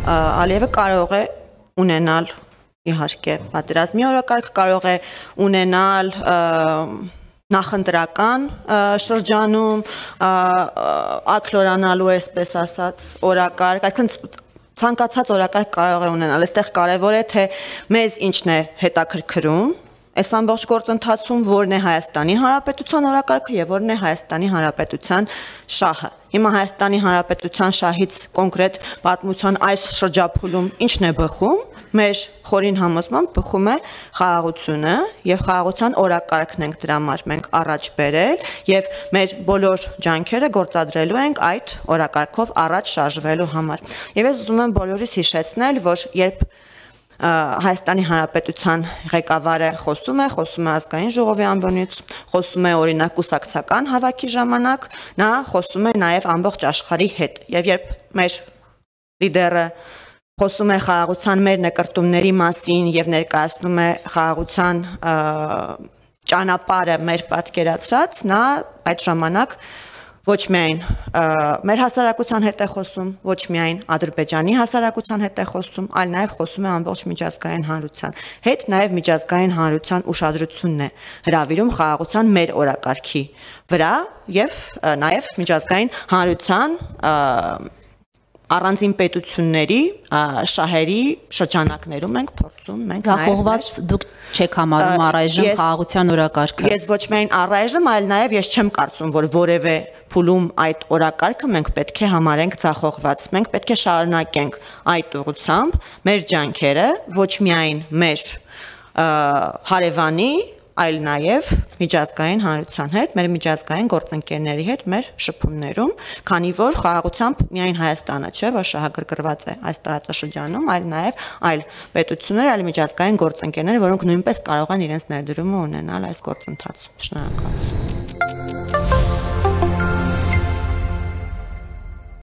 Ալիևը կարող է ունենալ իհարկե պատերազմի օրակարգ, կարող է ունենալ նախընտրական շրջանում ակլորանալու այսպես ասած օրակարգ, այսինքն ցանկացած օրակարգ կարող է ունենալ։ Այստեղ կարևոր է թե մեզ ինչն է հետաքրքրում այս ամբողջ գործընթացում, որն է Հայաստանի Հանրապետության օրակարգը եւ որն է Հայաստանի Հանրապետության շահը։ Հիմա Հայաստանի Հանրապետության շահից կոնկրետ պատմության այս շրջափուլում ինչն է բխում, մեր խորին համոզմամբ բխում է խաղաղությունը եւ խաղաղության օրակարգն ենք դրա համար մենք առաջ բերել եւ մեր բոլոր ջանքերը գործադրելու ենք այդ օրակարգով առաջ շարժվելու համար։ Եվ ես ուզում եմ բոլորիս հիշեցնել, որ երբ Հայաստանի Հանրապետության ղեկավարը խոսում է ազգային ժողովի անվանից, խոսում է օրինակ կուսակցական հավաքի ժամանակ, նա խոսում է նաև ամբողջ աշխարհի հետ։ Եվ երբ մեր լիդերը խոսում է խաղաղության մեր նկարտումների մասին եւ ներկայացնում է խաղաղության ճանապարհը մեր պատկերացրած, նա այդ ժամանակ ոչ միայն մեր հասարակության հետ է խոսում, ոչ միայն Ադրբեջանի հասարակության հետ է խոսում, այլ նաև խոսում է ամբողջ միջազգային հանրության հետ, նաև միջազգային հանրության ուշադրությունն է հրավիրում խաղաղության մեր օրակարգի վրա եւ նաև միջազգային հանրության առանձին պետությունների շահերի շրջանակներում ենք փորձում մենք Ձախողված դուք չեք համարում առայժմ խաղաղության օրակարգը։ Ես ոչ միայն առայժմ, այլ նաև ես չեմ կարծում, որ որևէ փուլում այդ օրակարգը մենք պետք է համարենք ձախողված։ Մենք պետք է շարունակենք այդ ուղղությամբ մեր ջանքերը, ոչ միայն մեր հարևանի, այլ նաև միջազգային հանրության հետ, մեր միջազգային գործընկերների հետ մեր շփումներում, քանի որ խաղաղությամբ միայն Հայաստանը չէ, որ շահագրգռված է այս տարածաշրջանում, այլ նաև այլ պետություններ, այլ միջազգային գործընկերներ, որոնք նույնպես կարող են իրենց ներդրումը ունենալ այս գործընթացում։ Շնորհակալություն։